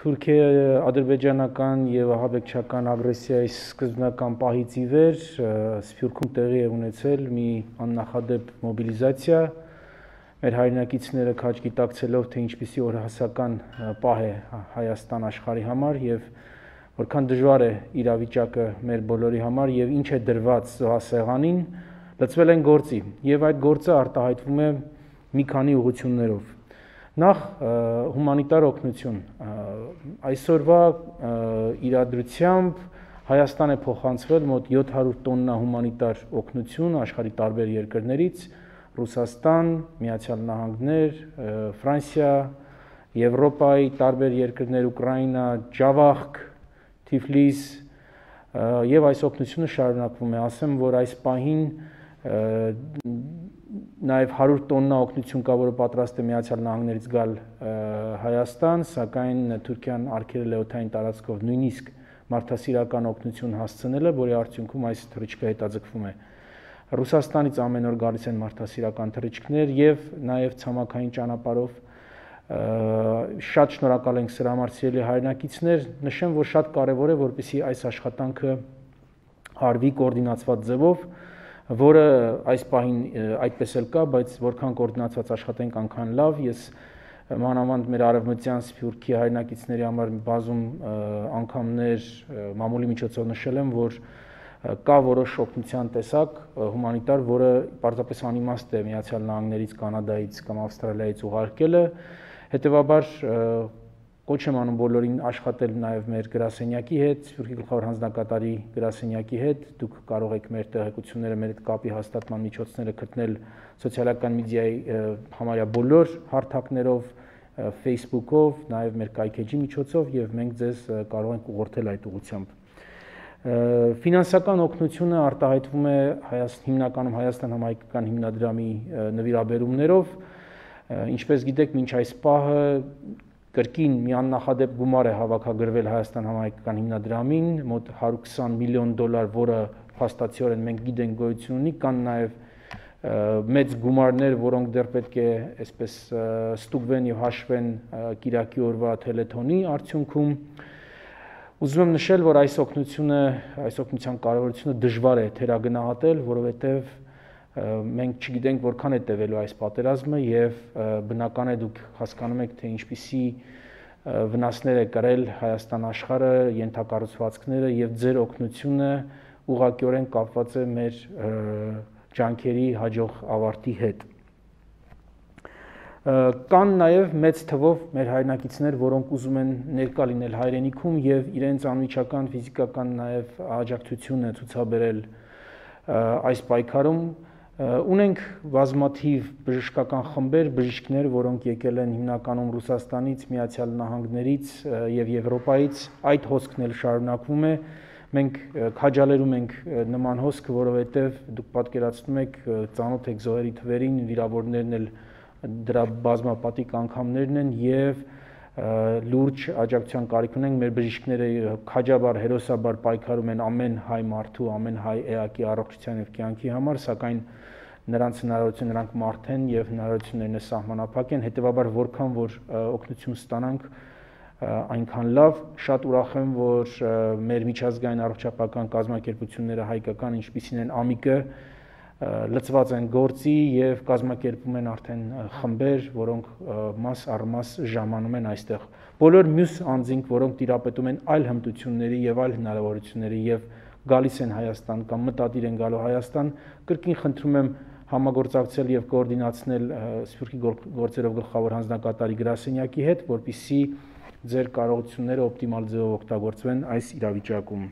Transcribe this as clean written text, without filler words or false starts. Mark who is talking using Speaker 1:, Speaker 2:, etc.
Speaker 1: Թուրքիա-ադրբեջանական և ահաբեկչական ագրեսիայի սկզբնական պահից ի վեր Սփյուռքում տեղի է ունեցել մի աննախադեպ մոբիլիզացիա, մեր հայրենակիցները քաջ գիտակցելով, թե ինչպիսի օրհասական պահ է Հայաստան աշխարհի համար և որքան դժվար է իրավիճակը մեր բոլորի համար և ինչ է դրված զոհասեղանին, լծվել են գործի և այդ գործը արտահայտվում է մի քանի ուղղություններով։ Նախ հումանիտար օգնություն, այսօրվա իրադրությամբ Հայաստան է փոխանցվել մոտ 700 տոննա հումանիտար օգնություն աշխարհի տարբեր երկրներից՝ Ռուսաստան, Միացյալ Նահանգներ, Ֆրանսիա, Եվրոպայի տարբեր երկրներ, Ուկրաինա, Ջավախք, Թիֆլիս և այս օգնությունը շարունակվում է, ասեմ, որ այս պահին նաև 100 տոննա օգնություն կա, որը պատրաստ է Միացյալ Նահանգներից գալ Հայաստան, սակայն Թուրքիան արգելել է օդային տարածքով նույնիսկ մարդասիրական օգնություն հասցնելը, որի արդյունքում այս թռիչքը հետաձգվում է։ Ռուսաստանից ամեն օր գալիս են մարդասիրական թռիչքներ և նաև ցամաքային ճանապարհով։ Շատ շնորհակալ ենք սրա համար, սիրելի հայրենակիցներ, նշեմ, որ շատ կարևոր է, որպեսզի այս աշխատանքը արվի կոորդինացված ձևով, որը այս պահին այդպես էլ կա, բայց որքան կոորդինացված աշխատենք, այնքան լավ։ Ես մանավանդ մեր արևմտյան Սփյուռքի հայրենակիցների համար բազում անգամներ մամուլի միջոցով նշել եմ, որ կա որոշ օգնության տեսակ հումանիտար, որը պարզապես անիմաստ է Միացյալ Նահանգներից, Կանադայից կամ Ավստրալիայից ուղարկելը, հետևաբար կոչ եմ անում բոլորին աշխատել նաև մեր գրասենյակի հետ, Սփյուռքի գլխավոր հանձնակատարի գրասենյակի հետ, դուք կարող եք մեր տեղեկությունները, մեր հետ կապի հաստատման միջոցները գտնել սոցիալական մեդիայի համարյա բոլոր հարթակներով, Facebook-ով, նաև մեր կայքեջի միջոցով և մենք ձեզ կարող ենք ուղղորդել այդ ուղղությամբ։ Ֆինանսական օգնությունը արտահայտվում է հիմնականում Հայաստան համահայկական հիմնադրամի նվիրաբերումներով, ինչպես գիտեք, մինչ այս պահը կրկին մի աննախադեպ գումար է հավաքագրվել Հայաստան համահայկական հիմնադրամին, մոտ 120 միլիոն դոլար, որը փաստացիորեն մենք գիտենք գոյություն ունի, կան նաև մեծ գումարներ, որոնք դեռ պետք է այսպես ստուգվեն և հաշվեն կիրակի օրվա թելեթոնի արդյունքում։ Ուզում եմ նշել, որ այս օգնության կարևորությունը դժվար է թերագնահատել, որովհետև մենք չգիտենք որքան է տևելու այս պատերազմը և բնական է դուք հասկանում եք, թե ինչպիսի վնասներ է կրել Հայաստան աշխարհը, ենթակառուցվածքները և ձեր օգնությունը ուղղակիորեն կապված է մեր ջանքերի հաջող ավարտի հետ։ Կան նաև մեծ թվով մեր հայրենակիցներ, որոնք ուզում են ներկա լինել հայրենիքում և իրենց անմիջական ֆիզիկական նաև աջակցությունը ցուցաբերել այս պայքարում։ Ունենք բազմաթիվ բժշկական խմբեր, բժիշկներ, որոնք եկել են հիմնականում Ռուսաստանից, Միացյալ Նահանգներից և Եվրոպայից, այդ հոսքն էլ շարունակվում է։ Մենք քաջալերում ենք նման հոսքը, որովհետև դուք պատկերացնում եք, ծանոթ եք զոհերի թվերին, վիրավորներն էլ դրա բազմապատիկ անգամներն են և լուրջ աջակցության կարիք ունենք, մեր բժիշկները քաջաբար, հերոսաբար պայքարում են ամեն հայ մարդու, ամեն հայ էակի առողջության և կյանքի համար, սակայն նրանք մարդ են և հնարավորություններն սահմանափակ են, հետևաբար որքան որ օգնություն ստանանք, այնքան լավ։ Շատ ուրախ եմ, որ մեր միջազգային առողջապահական կազմակերպությունները հայկական, ինչպիսին են ԱՄԻԿ-ը, լծված են գործի և կազմակերպում են արդեն խմբեր, որոնք մաս առ մաս ժամանում են այստեղ։ Բոլոր մյուս անձինք, որոնք տիրապետում են այլ հմտությունների և այլ հնարավորությունների և գալիս են Հայաստան կամ մտադիր են գալու Հայաստան, կրկին խնդրում եմ համագործակցել և կոորդինացնել Սփյուռքի գործերով գլխավոր հանձնակատարի գրասենյակի հետ, որպեսզի ձեր կարողությունները օպտիմալ ձևով օգտագործվեն այս իրավիճակում։